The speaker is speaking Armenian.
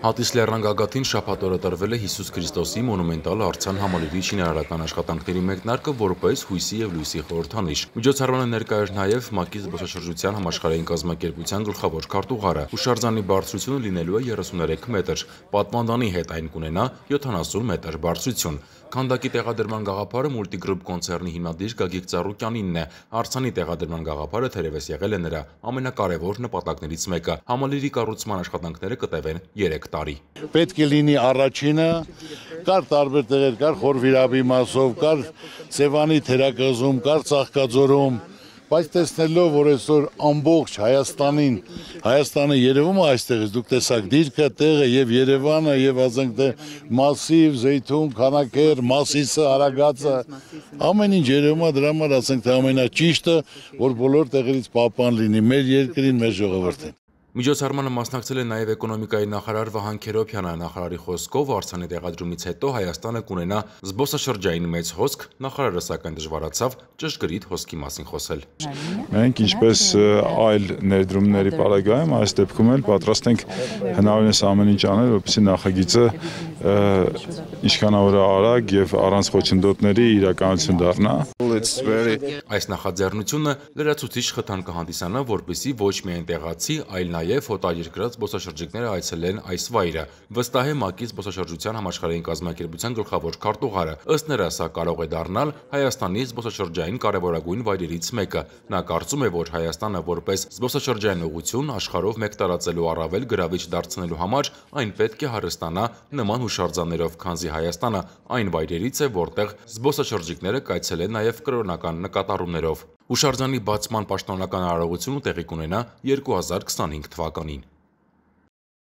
Հատիս լեռան գագաթին շաբաթ օրը տրվել է Հիսուս Քրիստոսի մոնումենտալ արձան համալիրի շինարարական աշխատանքների մեկնարկը որպես հույսի և լույսի խորհրդանիշ։ Միջոցառմանը ներկա էր նաև ՄԱԿ-ի զբոսաշրջության համաշխարհային կազմակերպության գլխավոր քարտուղարը։ Հուշարձանի բարձրությունը լինելու է 33 մետր, պատվանդանի հետ այն կունենա 70 մետր բարձրություն։ Քանդակի տեղադրման գաղափարը Multigroup կոնցեռնի հիմնադիր Գագիկ Ծառուկյանինն է։ Արձանի տեղադրման գաղափարը թերևս եղել է նրա ամենակարևոր նպատակներից մեկը։ Համալիրի կառուցման աշխատանքները կտևեն 3 տարի։ Պետք է լինի առաջինը, կար տարբեր տեղեր, կար Խորվիրաբի մասով, կար Սևանի թերակղզում, կար Ծաղկաձորում, բայց տեսնելով, որ այսօր ամբողջ Հայաստանը երևում է այստեղից, դուք տեսաք դիրքը, տեղը եւ Երևանը եւ ասենք Մասիվ, Զեյթուն, Քանաքեռ, Մասիսը, Արագածը, ամեն ինչ երևում է, դրա համար ասենք թե ամենաճիշտը, որ բոլոր տեղերից պահպան լինի մեր երկրին, մեր ժողովրդին։ Միջոցառմանը մասնակցել է նաև էկոնոմիկայի նախարար Վահան Քերոբյանը։ Նախարարի խոսքով արձանի տեղադրումից հետո Հայաստանը կունենա զբոսաշրջային մեծ հոսք, նախարարը սակայն դժվարացավ ճշգրիտ հոսքի մասին խոսել։ Մենք ինչպես այլ ներդրումների պարագայում այս դեպքում էլ պատրաստ ենք հնարավորինս ամեն ինչ անել, որպեսզի նախագիծը ինչքանավոր արագ եւ առանց խոչընդոտների իրականություն դառնա։ Այս նախաձեռնությունը լրացուցիչ խթան կհանդիսանա, որպեսզի ոչ միայն տեղացի, այլ նաև օտարերկրացի զբոսաշրջիկները այցելեն այս վայրը, վստահ է ՄԱԿ-ի զբոսաշրջության համաշխարհային կազմակերպության գլխավոր քարտուղարը։ Ըստ նրա, սա կարող է դառնալ Հայաստանի զբոսաշրջային կարևորագույն վայրերից մեկը։ Նա կարծում է, որ Հայաստանը որպես զբոսաշրջային ուղղություն աշխարհով մեկ տարածելու առավել գրավիչ դարձնելու համար այն պետք է հարստանա նման հուշարձաններով, քանզի Հայաստանը այն վայրերից է, որտեղ զբոսաշրջիկները կայցելեն նաև կրոնական նկատառումներով։ Հուշարձանի բացման պաշտոնական արարողությունը տեղի կունենա 2025 թվականին։